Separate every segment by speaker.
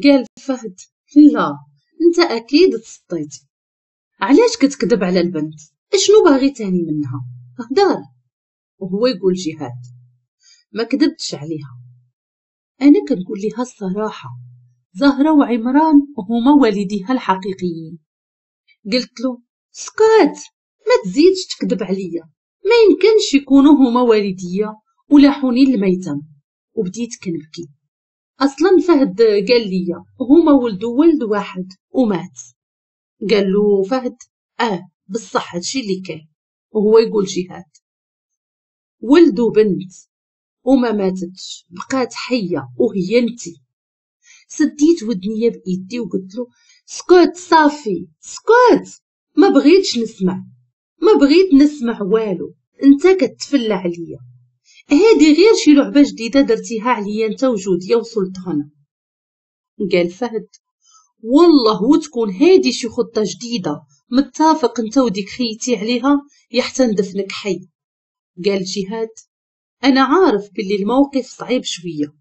Speaker 1: قال فهد لا، انت اكيد تسطيتي. علاش كتكذب على البنت؟ اشنو باغي تاني منها؟ هدار. وهو يقول جهاد ما كذبتش عليها، انا كنقول لها الصراحه، زهره وعمران هما والديها الحقيقيين. قلت له سكات، ما تزيدش تكذب عليا، ما يمكنش يكونوا هما والديا ولاحوني للميتم. وبديت كنبكي. اصلا فهد قال لي هما ولدوا ولد واحد ومات. قال له فهد بصح هادشي اللي كاين. وهو يقول جهاد ولد وبنت وما ماتتش، بقات حيه وهي انتي. سديت ودنيا بايدي وقلت له سكوت، صافي سكوت، ما بغيتش نسمع، ما بغيت نسمع والو، انت كتفلى عليا، هادي غير شي لعبه جديده درتيها عليا انت وجوديه وسلطانه. قال فهد والله وتكون هادي شي خطه جديده متفق انت وديك خيتي عليها يحتى ندفنك حي. قال جهاد انا عارف باللي الموقف صعيب شويه،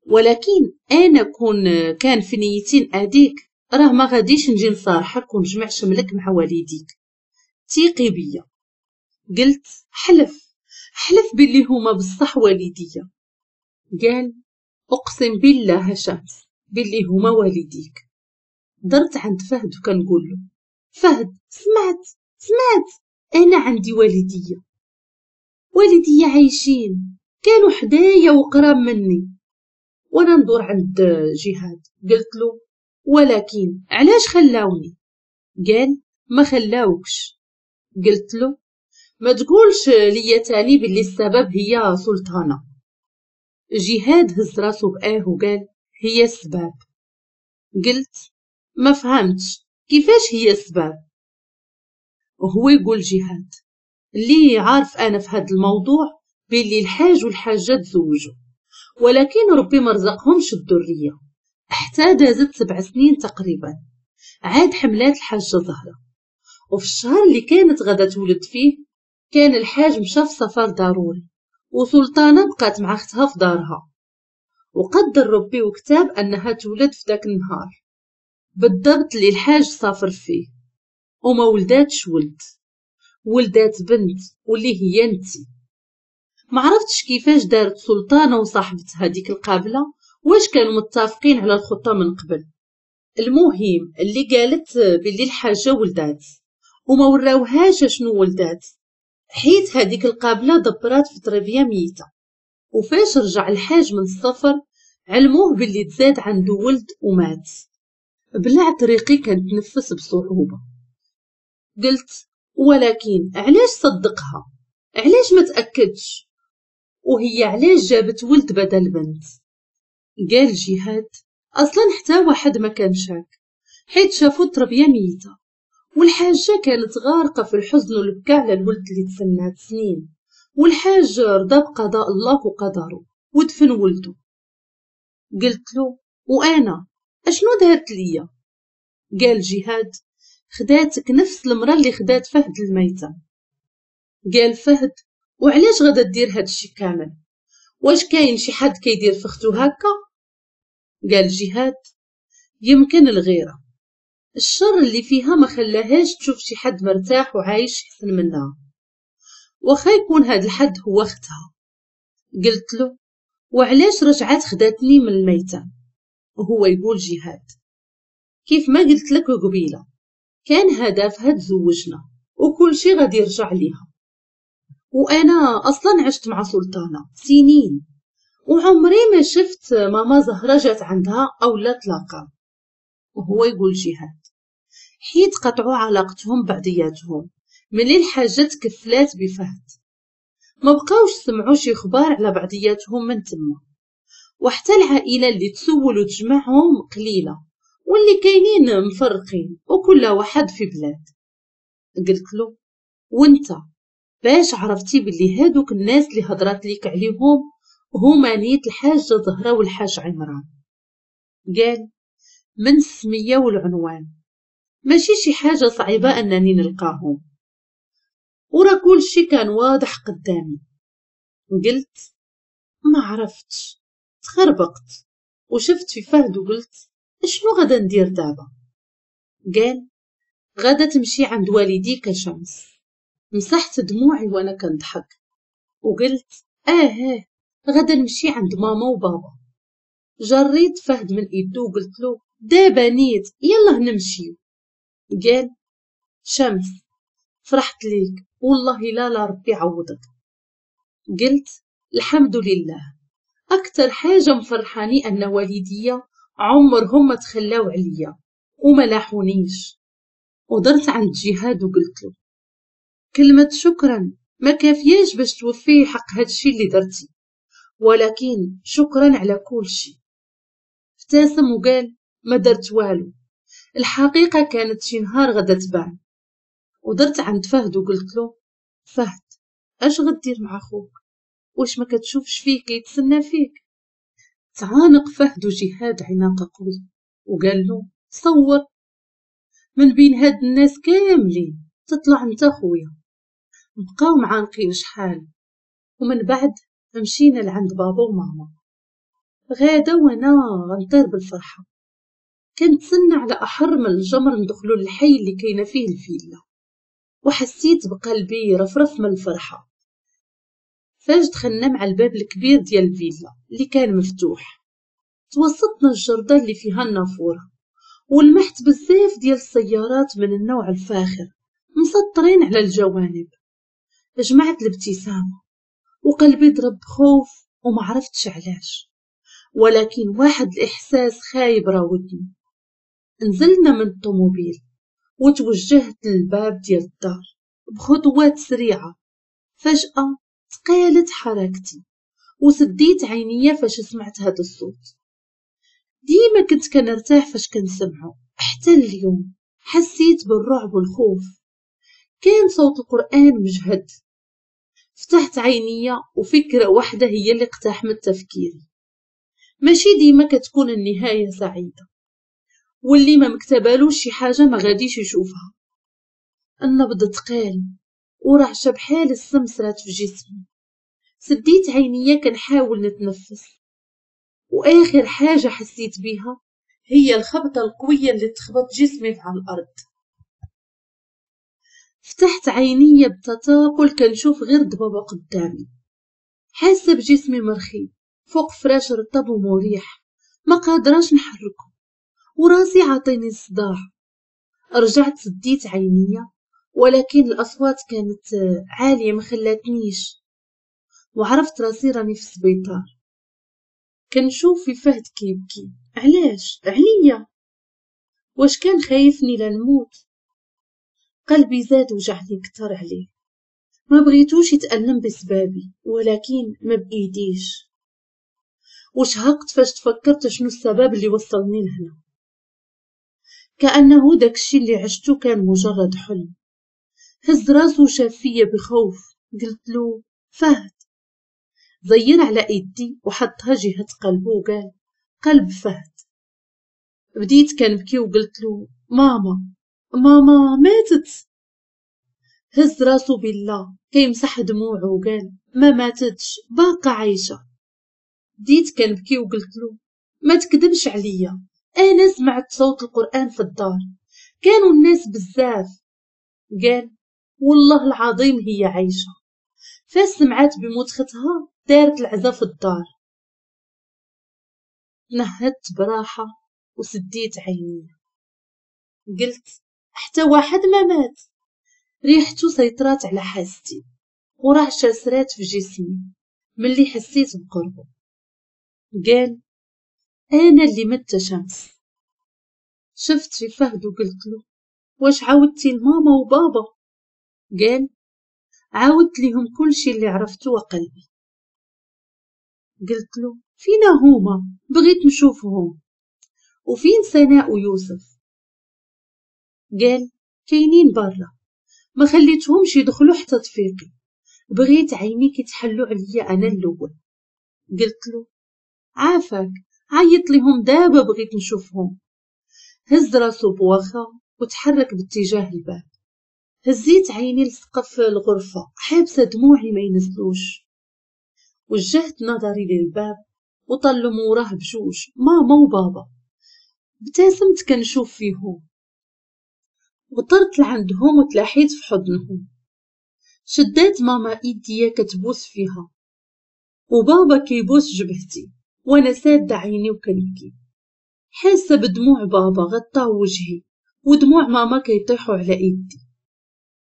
Speaker 1: ولكن انا كون كان في نيتي ناديك راه ما غاديش نجي نصارحك ونجمع شملك مع والديك، تيقي بيا. قلت حلف، حلف باللي هما بصح والديا. قال اقسم بالله شمس باللي هما والديك. درت عند فهد وكنقول له فهد سمعت سمعت، انا عندي والديا، والديا عايشين، كانوا حدايا وقراب مني. وانا ندور عند جهاد قلت له ولكن علاش خلاوني؟ قال ما خلاوكش. قلت له ما تقولش ليا تاني باللي السبب هي سلطانة. جهاد هز راسو بآه وقال هي السبب. قلت ما فهمتش كيفاش هي السبب؟ وهو يقول جهاد اللي عارف انا في هذا الموضوع باللي الحاج والحاجة تزوجوا، ولكن ربي ما رزقهمش الذرية حتى دازت 7 سنين تقريبا. عاد حملات الحاجة زهرة، وفي الشهر اللي كانت غدا تولد فيه كان الحاج مشى في سفر ضروري، وسلطانة بقات مع اختها في دارها، وقدر ربي وكتاب انها تولد في ذاك النهار بالضبط اللي الحاج سافر فيه، وما ولداتش ولد، ولدات بنت واللي هي انتي. ما عرفتش كيفاش دارت سلطانة وصاحبتها ديك القابلة، واش كانوا متفقين على الخطة من قبل. المهم اللي قالت باللي الحاجة ولدات وما وراوهاش شنو ولدات، حيت هذيك القابلة دبرات في تربية ميتة. وفاش رجع الحاج من السفر علموه باللي تزاد عنده ولد ومات. بلعت ريقي كنتنفس بصعوبة. قلت ولكن علاش صدقها؟ علاش ما تأكدش؟ وهي علاش جابت ولد بدل بنت؟ قال جهاد اصلا حتى واحد ما كان شاك، حيت شافوا التربية ميتة، والحاجة كانت غارقة في الحزن والبكاء على الولد اللي تسنات سنين، والحاج رضى بقضاء الله وقدره ودفن ولده. قلت له وانا اشنو دارت ليا؟ قال جهاد خداتك نفس المرأة اللي خدات فهد الميتة. قال فهد وعلاش غادا دير هادشي كامل؟ واش كاين شي حد كيدير فختو هكا؟ قال جهاد يمكن الغيرة، الشر اللي فيها ما خلاهاش تشوف شي حد مرتاح وعايش احسن منها، واخا يكون هاد الحد هو اختها. قلت له وعلاش رجعات خداتني من الميتة؟ وهو يقول جهاد كيف ما قلت لك قبيله كان هدفها تزوجنا وكل شي غادي يرجع ليها، وانا اصلا عشت مع سلطانه سنين وعمري ما شفت ماما زهره جات عندها او لا تلاقى. وهو يقول جهاد حيت قطعوا علاقتهم بعضياتهم ملي الحاجه تكفلات بفهد، ما بقاوش سمعوا شي خبار على بعضياتهم من تما، وحتى العائله اللي تسول وتجمعهم قليله، واللي كاينين مفرقين وكل واحد في بلاد. قلت له وانت باش عرفتي باللي هادوك الناس اللي هضرات ليك عليهم هما نيت الحاجة زهرة والحاج عمران؟ قال من السمية والعنوان، ماشي شي حاجة صعيبة أنني نلقاهم، ورا كل شي كان واضح قدامي. قلت ما عرفتش، تخربقت. وشفت في فهد وقلت شنو غادا ندير دابا؟ قال غادا تمشي عند والديك شمس. مسحت دموعي وانا كنضحك وقلت اه غادا نمشي عند ماما وبابا. جريت فهد من ايدو وقلت له دابا نيت يلا نمشيو. قال شمس فرحت ليك والله لا ربي عوضك. قلت الحمد لله، اكثر حاجه مفرحاني ان والديا عمرهم ما تخلاو عليا وما لاحونيش. ودرت عند جهاد وقلت له كلمة شكرا ما كافياش باش توفي حق هادشي اللي درتي، ولكن شكرا على كل شيء. ابتسم وقال ما درت والو، الحقيقة كانت شي نهار غدا تبان. ودرت عند فهد وقلت له فهد اش غدير مع خوك؟ واش ما كتشوفش فيه كيتسنى فيك؟ تعانق فهد وجهاد عناق قوي وقال له صور من بين هاد الناس كاملين تطلع انت خويا. بقاو معانقين شحال، ومن بعد مشينا لعند بابا وماما. غادا وانا غنطير بالفرحه، كنتسنى على احر من الجمر ندخلو للحي اللي كاينه فيه الفيلا، وحسيت بقلبي رفرف من الفرحه. فاش دخلنا مع الباب الكبير ديال الفيلا اللي كان مفتوح، توسطنا الجردة اللي فيها النافوره، ولمحت بزاف ديال السيارات من النوع الفاخر مسطرين على الجوانب. جمعت الابتسامه وقلبي ضرب بخوف وما عرفتش علاش، ولكن واحد الاحساس خايب راودني. نزلنا من الطوموبيل وتوجهت للباب ديال الدار بخطوات سريعه. فجاه تقالت حركتي وسديت عينيا فاش سمعت هذا الصوت. ديما كنت كنرتاح فاش كنسمعه، حتى اليوم حسيت بالرعب والخوف. كان صوت القرآن مجهد. فتحت عينيا وفكرة واحدة هي اللي اقتحمت تفكيري، ماشي ديما كتكون النهاية سعيدة، واللي ما مكتبالوش شي حاجة ما غاديش يشوفها. النبض تقال ورعشة بحال السمسرات في جسمي. سديت عينيا كنحاول نتنفس، واخر حاجة حسيت بيها هي الخبطة القوية اللي تخبط جسمي على الارض. فتحت عيني بتثاقل كنشوف غير ضبابة قدامي، حاسة بجسمي مرخي فوق فراش رطب ومريح، ما قادراش نحركه وراسي عاطيني الصداع. رجعت سديت عينيا، ولكن الاصوات كانت عالية ما خلاتنيش، وعرفت راسي راني في السبيطار. كنشوف في فهد كيبكي، علاش عليا؟ واش كان خايفني لا نموت؟ قلبي زاد وجعني كتر عليه، ما بغيتوش يتألم بسبابي، ولكن ما بإيديش. وشهقت فاش تفكرت شنو السبب اللي وصلني لهنا، كأنه داكشي اللي عشتو كان مجرد حلم. هز راسو وشاف فيا بخوف. قلت له فهد. زير على ايدي وحطها جهة قلبه وقال قلب فهد. بديت كنبكي وقلت له ماما ماما ماتت. هز راسو بالله كيمسح دموعه وقال ما ماتتش باقا عايشة. بديت كنبكي وقلت له ما تكذبش عليا، انا سمعت صوت القرآن في الدار، كانوا الناس بزاف. قال والله العظيم هي عايشة. فاش سمعت بموت ختها دارت العزا في الدار. نهدت براحة وسديت عيني، قلت حتى واحد ما مات. ريحته سيطرات على حاستي ورعشة سرات في جسمي ملي حسيت بقربه. قال انا اللي مت شمس. شفت في فهد وقلت له واش عاودتي لماما وبابا؟ قال عاودت لهم كل شي اللي عرفته وقلبي. قلت له فينا هما، بغيت نشوفهم، وفين سناء ويوسف؟ قال كاينين برا، ما خليتهمش يدخلوا حتى تفيقي، بغيت عينيك يتحلوا عليا انا الاول. قلت له عافاك عيط لهم دابا بغيت نشوفهم. هز راسو بواخا وتحرك باتجاه الباب. هزيت عيني لسقف الغرفة حابسة دموعي ما ينزلوش. وجهت نظري للباب وطلوا موراه بجوج ماما وبابا. ابتسمت كنشوف فيهم وطرت لعندهم وتلاحيت في حضنهم. شدات ماما ايديا كتبوس فيها وبابا كيبوس جبهتي وانا سادة عيني وكنبكي، حاسة بدموع بابا غطاو وجهي ودموع ماما كيطيحوا على ايدي.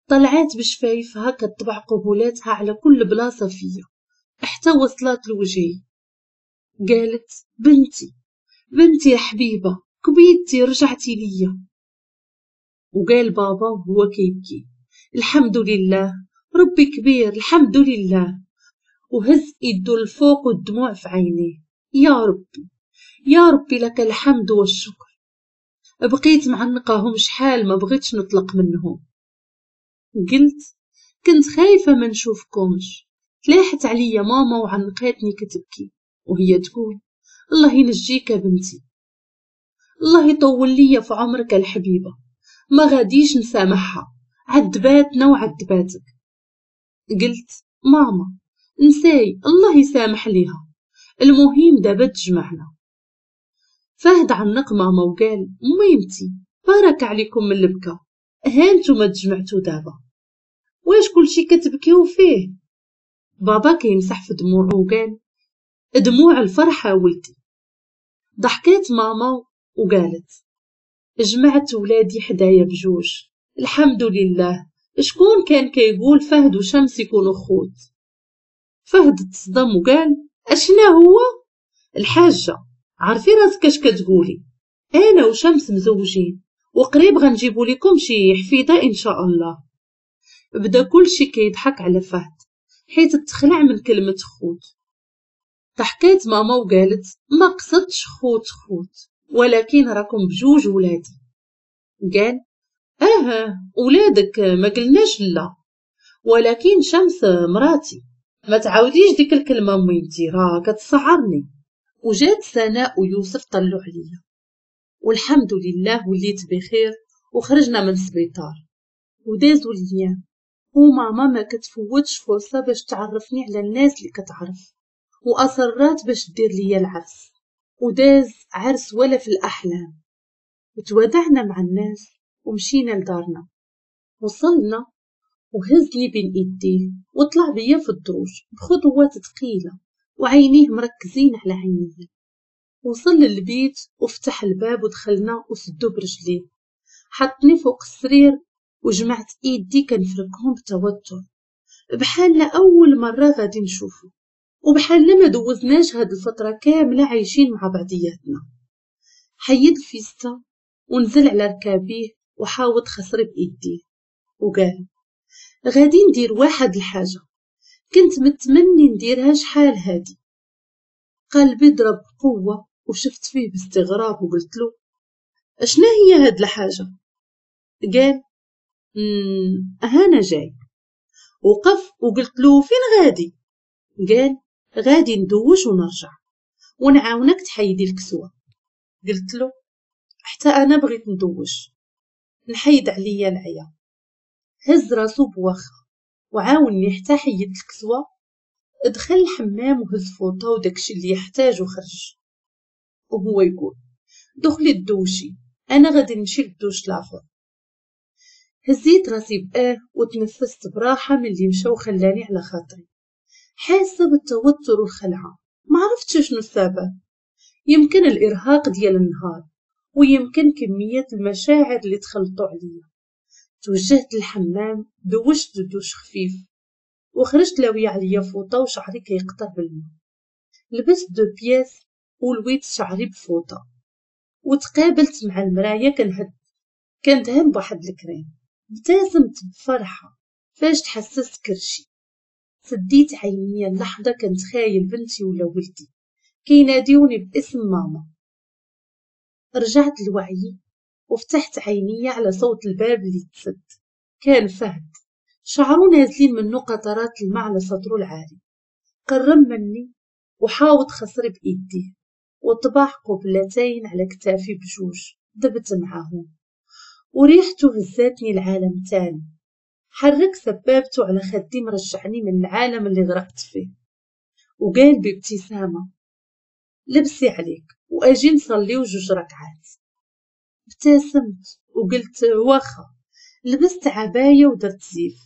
Speaker 1: طلعات بشفايفها كتطبع قبولاتها على كل بلاصة فيا حتى وصلت لوجهي. قالت بنتي بنتي يا حبيبة كبيتي رجعتي ليا. وقال بابا وهو كيبكي الحمد لله ربي كبير الحمد لله، وهز ايدو لفوق والدموع في عينيه. يا ربي يا ربي لك الحمد والشكر. بقيت معنقاهم شحال ما بغيتش نطلق منهم. قلت كنت خايفة ما نشوفكمش. تلاحت عليا ماما وعنقاتني كتبكي وهي تقول الله ينجيك يا بنتي، الله يطول ليا في عمرك الحبيبة، ما غاديش نسامحها، عذباتنا وعذباتك. قلت ماما نساي الله يسامح ليها، المهم دابا تجمعنا. فهد عنق ماما وقال ميمتي بارك عليكم من البكا، ها نتوما تجمعتو دابا، واش كلشي كتبكيو فيه؟ بابا كيمسح في دموعه وقال دموع الفرحة ولدي. ضحكات ماما وقالت جمعت ولادي حدايا بجوج الحمد لله، شكون كان كيقول فهد وشمس يكونوا خوت؟ فهد تصدم وقال اشنا هو؟ الحاجة عارفي راسك اش كتقولي، انا وشمس مزوجين وقريب غنجيبو لكم شي حفيدة ان شاء الله. بدا كلشي كيضحك على فهد حيت تخلع من كلمة خوت. ضحكات ماما وقالت ما قصدتش خوت خوت، ولكن راكم بجوج ولادي. قال ولادك ما قلناش لا، ولكن شمس مراتي، ما تعاوديش ديك الكلمة ميمتي راه كتصعرني. وجات سناء ويوسف طلعوا عليا والحمد لله وليت بخير وخرجنا من السبيطار. ودازوا الايام وماما ما كتفوتش فرصة باش تعرفني على الناس اللي كتعرف، واصرات باش دير ليا العرس. وداز عرس ولا في الاحلام. وتوادعنا مع الناس ومشينا لدارنا. وصلنا وهزني بين ايديه وطلع بيا في الدروج بخطوات ثقيلة وعينيه مركزين على عينيه. وصل للبيت وفتح الباب ودخلنا وسدو برجليه. حطني فوق السرير وجمعت ايدي كنفركهم بتوتر، بحال اول مرة غادي نشوفه وبحال ما دوزناش هاد الفترة كاملة عايشين مع بعضياتنا. حيد الفيستا ونزل على ركابيه وحاوط خصري بايديه وقال غادي ندير واحد الحاجة كنت متمني نديرها شحال هادي. قلبي ضرب بقوة وشفت فيه باستغراب وقلت له اشنا هي هاد الحاجة؟ قال هانا جاي. وقف وقلت له فين غادي؟ قال غادي ندوش ونرجع ونعاونك تحيدي الكسوة. قلت له حتى انا بغيت ندوش نحيد عليا العيا. هز راسو بواخا وعاوني حتى حيدت الكسوة. دخل الحمام وهز فوطه وداكشي اللي يحتاج وخرج وهو يقول دخلي الدوشي انا غادي نمشي للدوش الاخر. هزيت راسي بآه وتنفست براحة من اللي مشى وخلاني على خاطري، حاسه بالتوتر والخلعه، ما عرفتش شنو السبب. يمكن الارهاق ديال النهار ويمكن كمية المشاعر اللي تخلطوا عليا. توجهت للحمام دوشت دوش خفيف وخرجت لاويه عليا فوطه وشعري كيقطر بالماء. لبست deux pièces ولويت شعري بفوطه وتقابلت مع المراية كندهن بواحد الكريم. ابتسمت بفرحة فاش تحسست كرشي. سديت عينيا اللحظة كنتخايل بنتي ولا ولدي كيناديوني باسم ماما. رجعت لوعيي وفتحت عيني على صوت الباب اللي تسد. كان فهد، شعرو نازلين منه قطرات الماء على صدره العالي. قرب مني وحاوط خصري بايديه وطبع قبلتين على كتافي بجوج. دبت معاهم وريحته هزاتني العالم تاني. حرك سبابته على خدي مرجعني من العالم اللي غرقت فيه وقال بابتسامة لبسي عليك واجي نصليو 2 ركعات. ابتسمت وقلت واخا. لبست عباية ودرت زيف،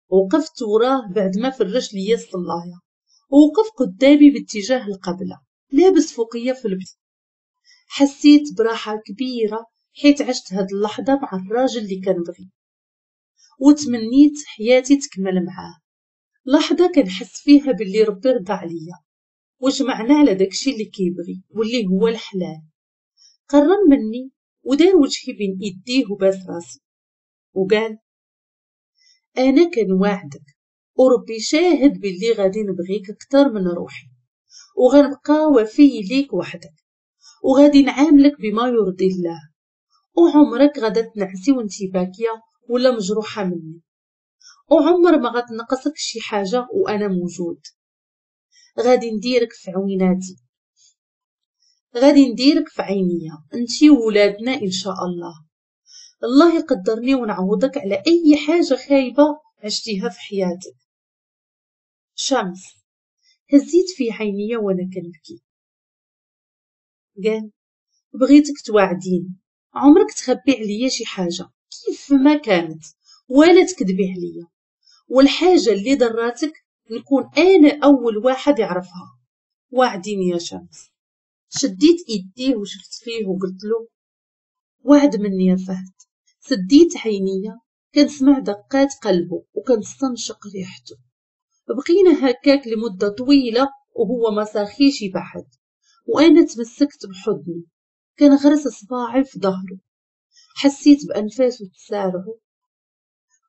Speaker 1: وقفت وراه بعد ما فرش ليا الصلايه، ووقف قدامي باتجاه القبلة لابس فوقيه في البيت. حسيت براحة كبيرة حيت عشت هاد اللحظة مع الراجل اللي كنبغي وتمنيت حياتي تكمل معاه. لحظة كنحس فيها باللي ربي رضى عليا وجمعنا على داكشي اللي كيبغي واللي هو الحلال. قرب مني ودار وجهي بين ايديه وباس راسي وقال انا كنواعدك وربي شاهد باللي غادي نبغيك اكثر من روحي، وغنبقى وفي ليك وحدك، وغادي نعاملك بما يرضي الله، وعمرك غادا تنعسي وانتي باكية ولا مجروحة مني، وعمر ما غتنقصك شي حاجة وانا موجود. غادي نديرك في عويناتي، غادي نديرك في عينيا انتي وولادنا ان شاء الله. الله يقدرني ونعوضك على اي حاجة خايبة عشتيها في حياتك. شمس. هزيت في عينيا وانا كنبكي. قال بغيتك تواعديني عمرك تخبي عليا شي حاجة كيف ما كانت ولا تكذبي عليا، والحاجة اللي ضراتك نكون انا اول واحد يعرفها. وعديني يا شمس. شديت ايديه وشفت فيه وقلت له وعد مني يا فهد. سديت عينيا كنسمع دقات قلبه وكنستنشق ريحته. بقينا هكاك لمدة طويلة وهو ما ساخيش يبعد، وانا تمسكت بحضنه كنغرس صباعي في ظهره. حسيت بانفاسه تسارعه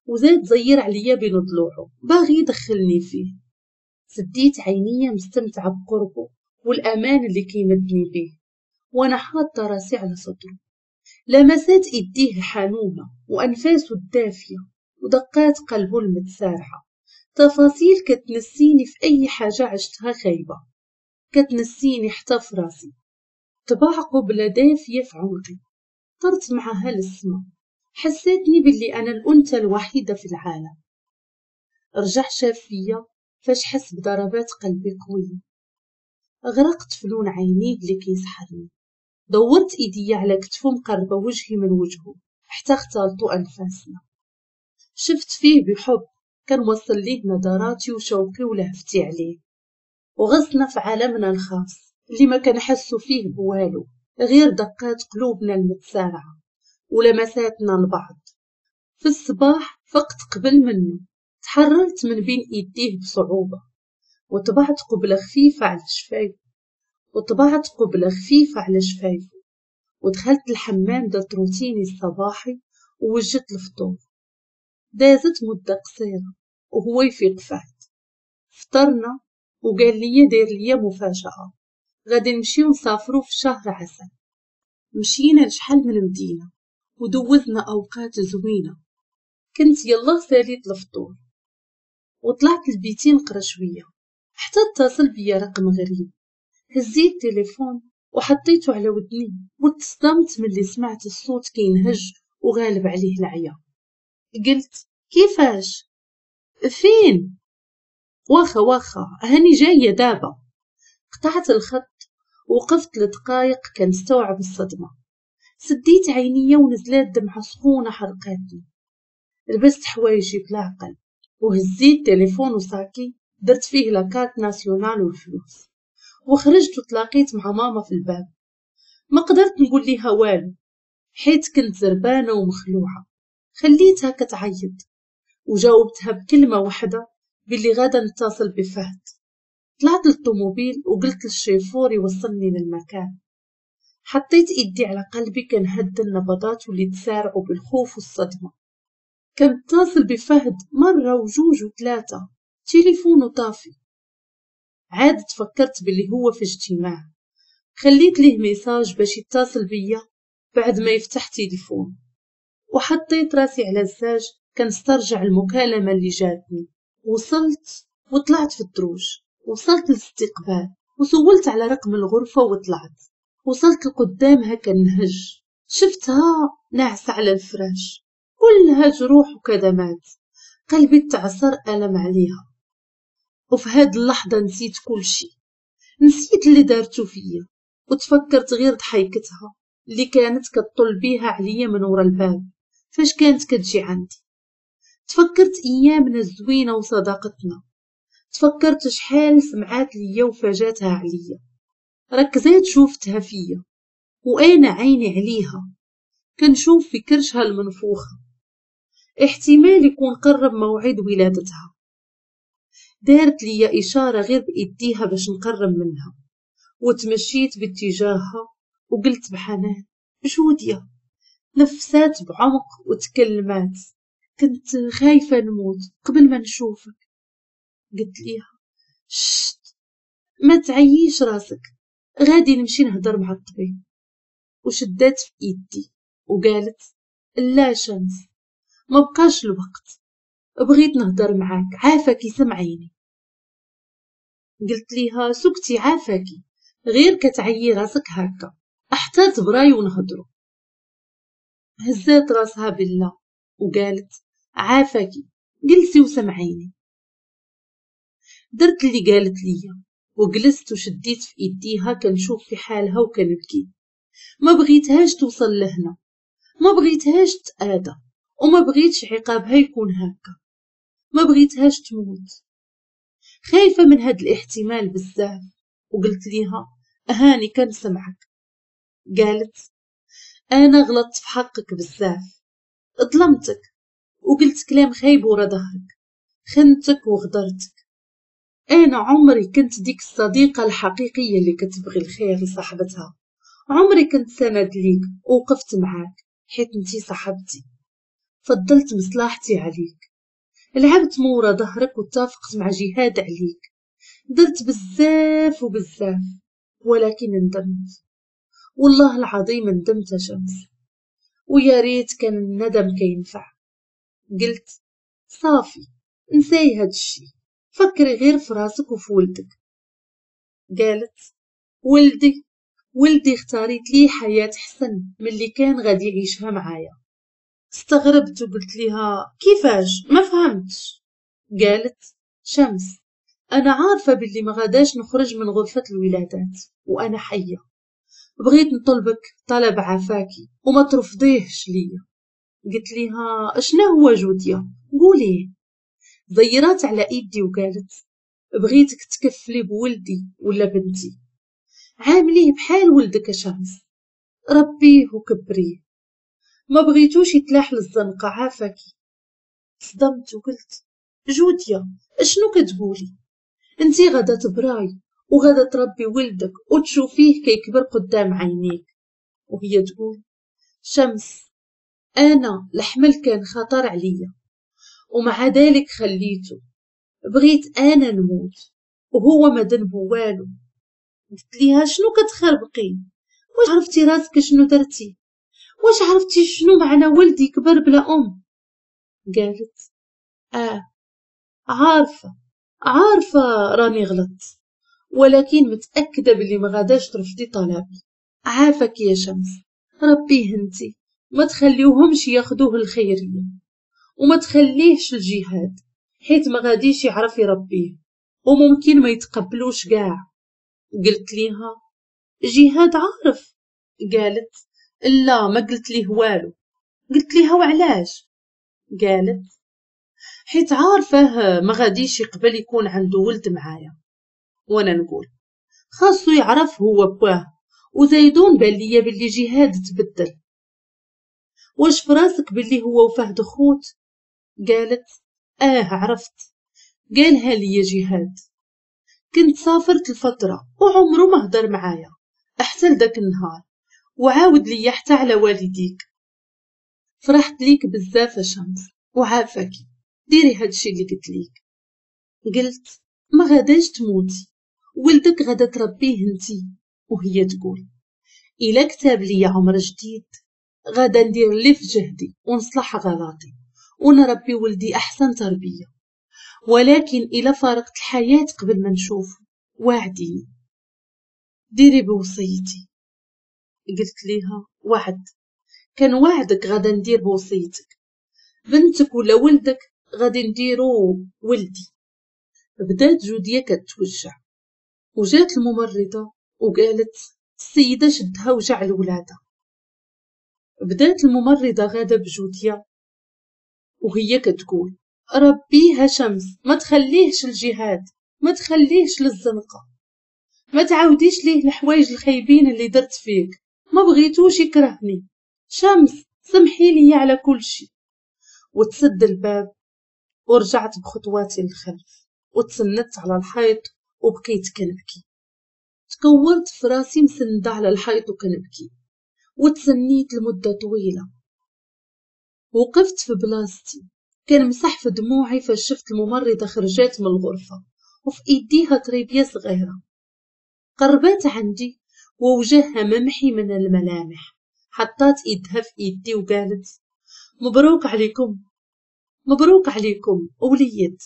Speaker 1: وزاد زير عليا بين ضلوعه باغي يدخلني فيه. سديت عينيا مستمتعه بقربه والامان اللي كيمدني به وانا حاطه راسي على صدره. لمسات ايديه الحنونه وانفاسه الدافيه ودقات قلبه المتسارعه، تفاصيل كتنسيني في اي حاجة عشتها خايبة، كتنسيني حتى في راسي. طبع قبلة دافية في عنقي، طرت معها للسما، حسيتني باللي أنا الأنثى الوحيدة في العالم. رجع شاف فيا فاش حس بضربات قلبي قوية. غرقت في لون عينيه اللي كيسحرني. دورت ايدي على كتفو مقربة وجهي من وجهه حتى اختلطوا أنفاسنا. شفت فيه بحب كنوصل ليه نظراتي وشوقي ولهفتي عليه، وغصنا في عالمنا الخاص اللي ما كنحسو فيه بوالو غير دقات قلوبنا المتسارعة ولمساتنا لبعض. في الصباح فقت قبل منه، تحررت من بين ايديه بصعوبة وطبعت قبلة خفيفة على شفايفه ودخلت الحمام درت روتيني الصباحي ووجدت الفطور. دازت مدة قصيرة وهو يفيق فهد. فطرنا وقال لي داير لي مفاجأة، غادي نمشيو نسافرو في شهر عسل. مشينا لشحال من مدينة ودوزنا أوقات زوينة. كنت يلا ساليت الفطور وطلعت لبيتي نقرا شوية حتى اتصل بيا رقم غريب. هزيت التليفون وحطيته على ودني وتصدمت ملي سمعت الصوت كينهج وغالب عليه العيا. قلت كيفاش؟ فين؟ واخا واخا هاني جاية دابا. قطعت الخط وقفت لدقايق كنستوعب الصدمة. سديت عينيا ونزلات دمعة سخونة حرقاتني. لبست حوايجي بلا عقل وهزيت تليفون وصاكي درت فيه la carte nationale والفلوس وخرجت وتلاقيت مع ماما في الباب. ما قدرت نقول ليها والو حيت كنت زربانة ومخلوعة. خليتها كتعيط وجاوبتها بكلمة واحدة باللي غادا نتصل بفهد. طلعت للطوموبيل وقلت للشيفور يوصلني للمكان. حطيت ايدي على قلبي كنهد النبضات واللي تسارعوا بالخوف والصدمة. كنتصل بفهد مرة وجوج وثلاثة، تليفونه طافي. عاد تفكرت باللي هو في اجتماع. خليت ليه message باش يتصل بيا بعد ما يفتح تليفون، وحطيت راسي على الزاج كنسترجع المكالمة اللي جاتني. وصلت وطلعت في الدروج، وصلت للاستقبال وسولت على رقم الغرفة وطلعت. وصلت لقدامها كنهج، شفتها ناعسة على الفراش كلها جروح وكدمات. قلبي تعصر ألم عليها، وفي هاد اللحظة نسيت كل شي. نسيت اللي دارتو فيا وتفكرت غير ضحيكتها اللي كانت كتطل بيها عليا من ورا الباب فاش كانت كتجي عندي. تفكرت ايامنا الزوينة وصداقتنا، تفكرت شحال سمعات ليا وفاجاتها عليا. ركزات شوفتها فيا وانا عيني عليها كنشوف في كرشها المنفوخه، احتمال يكون قرب موعد ولادتها. دارت ليا اشارة غير بايديها باش نقرب منها، وتمشيت باتجاهها وقلت بحنان جوديا. نفسات بعمق وتكلمات، كنت خايفة نموت قبل ما نشوفك. قلت ليها شت، ما تعيش راسك، غادي نمشي نهضر مع الطبيب. وشدات في ايدي وقالت لا شمس، ما بقاش الوقت، بغيت نهضر معاك، عافاكي سمعيني. قلت ليها سكتي عافاكي، غير كتعيي راسك هكا حتى تبراي ونهضرو. هزات راسها بالله وقالت عافاكي جلسي وسمعيني. درت اللي قالت ليا وجلست وشديت في ايديها كنشوف في حالها وكنبكي. ما بغيتهاش توصل لهنا، ما بغيتهاش تآذى، وما بغيتش عقابها يكون هكا، ما بغيتهاش تموت. خايفة من هاد الاحتمال بزاف. وقلت ليها هاني كنسمعك. قالت انا غلطت في حقك بزاف، ظلمتك وقلت كلام خايب ورا ظهرك، خنتك وغدرتك. انا عمري كنت ديك الصديقة الحقيقية اللي كتبغي الخير لصاحبتها، عمري كنت سند ليك ووقفت معاك حيت انتي صاحبتي، فضلت مصلحتي عليك، لعبت مورا ظهرك واتفقت مع جهاد عليك، درت بزاف وبزاف، ولكن ندمت، والله العظيم ندمت يا شمس، ويا ريت كان الندم كينفع. قلت صافي نساي هاد الشي، فكري غير في راسك وفي ولدك. قالت ولدي، ولدي اختاريت ليه حياة حسن من اللي كان غادي يعيشها معايا. استغربت وقلت لها كيفاش؟ ما فهمتش. قالت شمس انا عارفة باللي ما غاداش نخرج من غرفة الولادات وانا حية، بغيت نطلبك طلب عافاكي وما ترفضيهش ليا. قلت لها اشنا هو جوديا؟ قوليه. زيرات على ايدي وقالت بغيتك تكفلي بولدي ولا بنتي، عامليه بحال ولدك شمس، ربيه وكبريه، ما بغيتوش يتلاح للزنقه عافاكي. صدمت وقلت جوديا اشنو كتقولي؟ انتي غادا تبراي وغادا تربي ولدك وتشوفيه كيكبر قدام عينيك. وهي تقول شمس انا الحمل كان خطر عليا ومع ذلك خليته، بغيت انا نموت وهو ما ذنبو والو. قلت ليها شنو كتخربقي؟ واش عرفتي راسك شنو درتي؟ واش عرفتي شنو معنى ولدي كبر بلا ام؟ قالت عارفه عارفه راني غلطت، ولكن متاكدة بلي ما غاداش ترفضي طلبي. عافاك يا شمس، ربيه انتي، ما تخليوهمش ياخدوه الخيرية، وما تخليهش الجهاد حيت ما غاديش يعرف يربيه وممكن ما يتقبلوش كاع. قلت ليها جهاد عارف؟ قالت لا ما قلت ليه والو. قلت ليها وعلاش؟ قالت حيت عارفه ما غاديش يقبل يكون عنده ولد معايا. وانا نقول خاصو يعرف هو باه، وزيدون بان ليا بلي جهاد تبدل. واش فراسك بلي هو وفهد خوت؟ قالت عرفت، قالها لي جهاد. كنت سافرت الفترة وعمره ما هدر معايا حتى لداك النهار، وعاود لي حتى على والديك. فرحت ليك بزاف يا شمس، وعافاكي ديري هادشي اللي قلت ليك. قلت ما غاداش تموتي، ولدك غادا تربيه انتي. وهي تقول الا كتاب لي عمر جديد غادا ندير اللي في جهدي ونصلح غلطي ونربي ولدي احسن تربيه، ولكن الا فارقت الحياة قبل ما نشوف وعديني ديري بوصيتي. قلت ليها وعد، كان وعدك غادا ندير بوصيتك، بنتك ولا ولدك غادي نديرو ولدي. بدات جودية كتوجع وجات الممرضة وقالت السيدة شدها وجع الولادة. بدات الممرضة غادة بجودية وهي كتقول ربيها شمس، ما تخليهش الجهاد، ما تخليهش للزنقة، ما تعاوديش ليه الحوايج الخايبين اللي درت فيك، ما بغيتوش يكرهني، شمس سمحي لي على كل شيء. وتسد الباب ورجعت بخطواتي للخلف وتسندت على الحيط وبقيت كنبكي. تكورت في راسي مسندة على الحيط وكنبكي، وتسنيت لمدة طويلة. وقفت في بلاصتي كنمسح في دموعي فاش شفت الممرضة خرجات من الغرفة وفي ايديها تريبية صغيرة. قربات عندي ووجهها ممحي من الملامح، حطات ايدها في ايدي وقالت مبروك عليكم، مبروك عليكم وليد.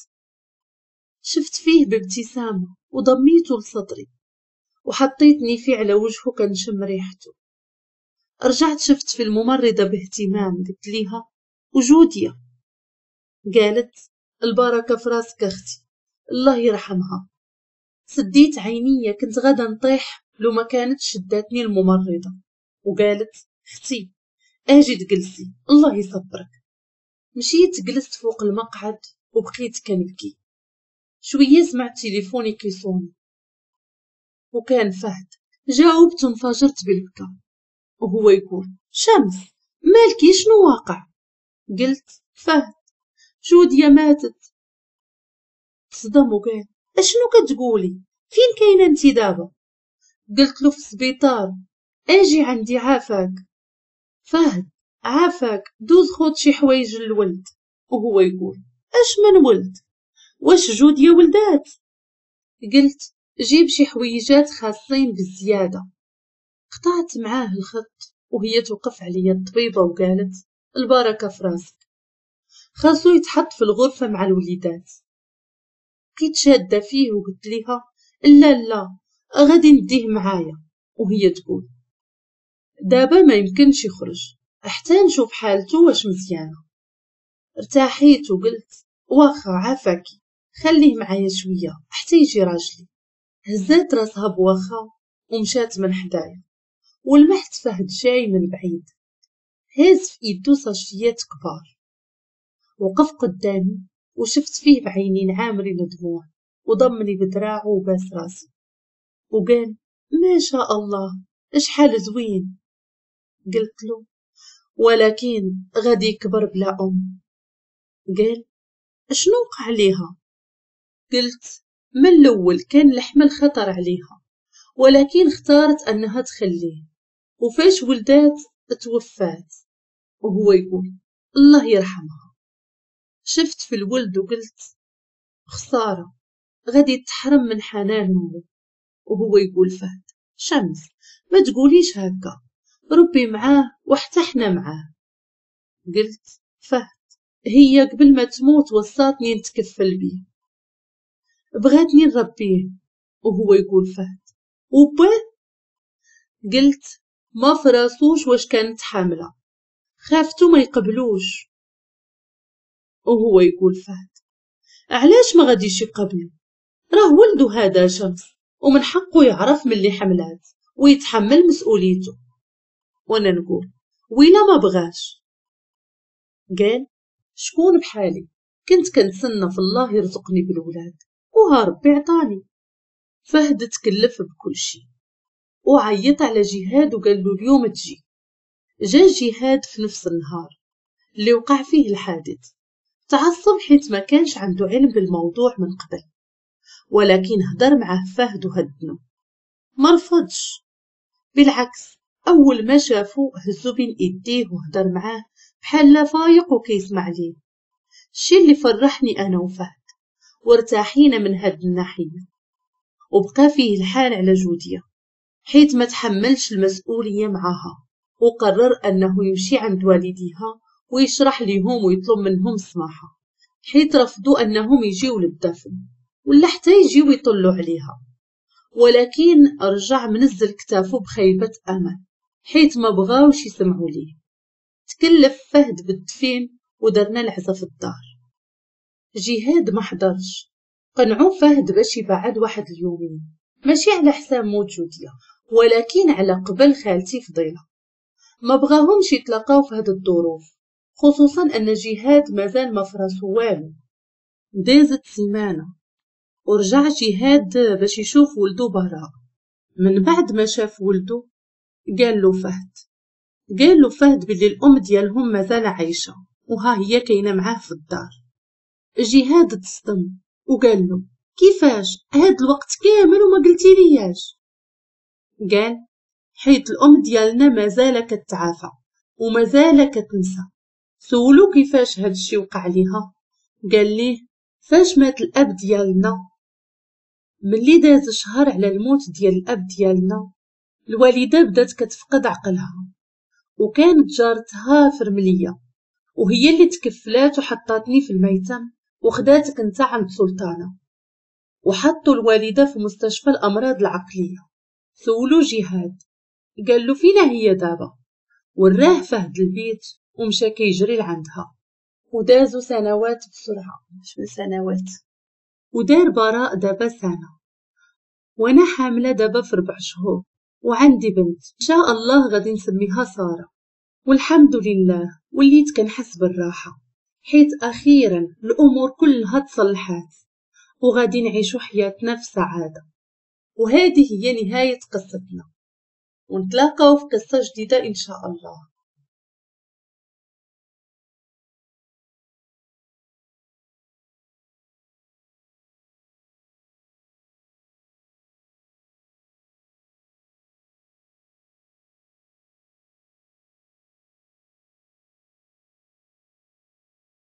Speaker 1: شفت فيه بابتسامة وضميته لصدري وحطيتني فيه على وجهه كنشم ريحته. رجعت شفت في الممرضة باهتمام، قلت ليها وجودية؟ قالت البركة في راسك اختي، الله يرحمها. سديت عينيا، كنت غادا نطيح لو ما كانت شداتني الممرضة وقالت اختي اجي تجلسي الله يصبرك. مشيت جلست فوق المقعد وبقيت كنبكي. شوية سمعت تليفوني كيصوني وكان فهد. جاوبت وانفجرت بالبكاء وهو يقول شمس مالكي شنو واقع؟ قلت فهد جودية ماتت. تصدم وقال اشنو كتقولي، فين كاينه انت دابا؟ قلت له في السبيطار، اجي عندي عافاك فهد، عافاك دوز خود شي حوايج للولد. وهو يقول اش من ولد، واش جودية ولدات؟ قلت جيب شي حويجات خاصين بالزيادة. قطعت معاه الخط وهي توقف عليا الطبيبة وقالت البركة في راسك، خاصو يتحط في الغرفة مع الوليدات. بقيت شاده فيه وقلت ليها لا لا غادي نديه معايا. وهي تقول دابا ما يمكنش يخرج حتى نشوف حالته واش مزيانه. ارتاحيت وقلت واخا عافاكي خليه معايا شوية حتى يجي راجلي. هزات راسها بواخا ومشات من حدايا، ولمحت فهد جاي من بعيد هاز في ايدو ساشيات كبار. وقف قدامي وشفت فيه بعينين عامرين دموع وضمني بدراعه وباس راسي وقال ما شاء الله اشحال زوين. قلت له ولكن غادي يكبر بلا ام. قال اشنو وقع ليها؟ قلت من الاول كان الحمل خطر عليها، ولكن اختارت انها تخليه، وفاش ولدات توفات. وهو يقول الله يرحمها. شفت في الولد وقلت خسارة غادي تحرم من حنان امه. وهو يقول فهد شمس ما تقوليش هكا، ربي معاه وحتى حنا معاه. قلت فهد هي قبل ما تموت وصاتني نتكفل بيه، بغاتني نربيه. وهو يقول فهد وباه؟ قلت ما فراسوش واش كانت حاملة، خافتو ما يقبلوش. وهو يقول فهد علاش ما غاديش يقبلو، راه ولدو هذا شمس ومن حقه يعرف من اللي حملات ويتحمل مسؤوليته. وانا نقول ويلا ما بغاش؟ قال شكون بحالي، كنت كنتسنى في الله يرزقني بالولاد وها ربي عطاني. فهد تكلف بكل شيء وعيط على جهاد وقال له اليوم تجي. جا جهاد في نفس النهار اللي وقع فيه الحادث. تعصب حيت ما كانش عنده علم بالموضوع من قبل، ولكن هدر معه فهد وهدنو، ما رفضش، بالعكس اول ما شافو هزو بين ايديه وهدر معاه بحال لا فايق وكيسمع ليه. الشي اللي فرحني انا وفهد وارتاحينا من هاد الناحية. وبقى فيه الحال على جوديه حيت ما تحملش المسؤولية معاها، وقرر انه يمشي عند والديها ويشرح ليهم ويطلب منهم السماحة، حيت رفضوا انهم يجيو للدفن ولا حتى يجيو يطلوا عليها. ولكن رجع منزل كتافو بخيبه امل حيت ما بغاوش يسمعوا ليه. تكلف فهد بالدفين ودرنا العزا في الدار. جهاد ما حضرش، قنعو فهد باش يبعد واحد اليومين ماشي على حساب موت جوديا، ولكن على قبل خالتي فضيلة. ما بغاهمش يتلاقاو في هاد الظروف، خصوصا ان جهاد مازال ما فراسو والو. دازت سيمانه ورجع جهاد باش يشوف ولدو براء. من بعد ما شاف ولدو قال له فهد، قال له فهد باللي الام ديالهم مازال عايشه وها هي كاينه معاه في الدار. جهاد تصدم وقال له كيفاش هاد الوقت كامل وما قلتي لياش؟ قال حيت الام ديالنا مازال كتعافى ومازال كتنسى. سولو كيفاش هاد الشي وقع ليها، قال ليه فاش مات الاب ديالنا، ملي داز شهر على الموت ديال الاب ديالنا الوالدة بدات كتفقد عقلها، وكانت جارتها فرمليه وهي اللي تكفلات وحطاتني في الميتم وخداتك انت عند سلطانه، وحطوا الوالدة في مستشفى الامراض العقلية. سولو جهاد قال له فينا هي دابا؟ وراه فهد البيت ومشى كيجري لعندها. ودازوا سنوات بسرعة، مش من سنوات، ودار براء دابا سنة، وانا حامله دابا في 4 شهور وعندي بنت ان شاء الله غادي نسميها ساره. والحمد لله وليت كنحس بالراحة، حيت اخيرا الامور كلها تصلحات وغادي نعيشو حياتنا في سعادة. وهذه هي نهاية قصتنا، ونتلاقاو في قصة جديدة ان شاء الله.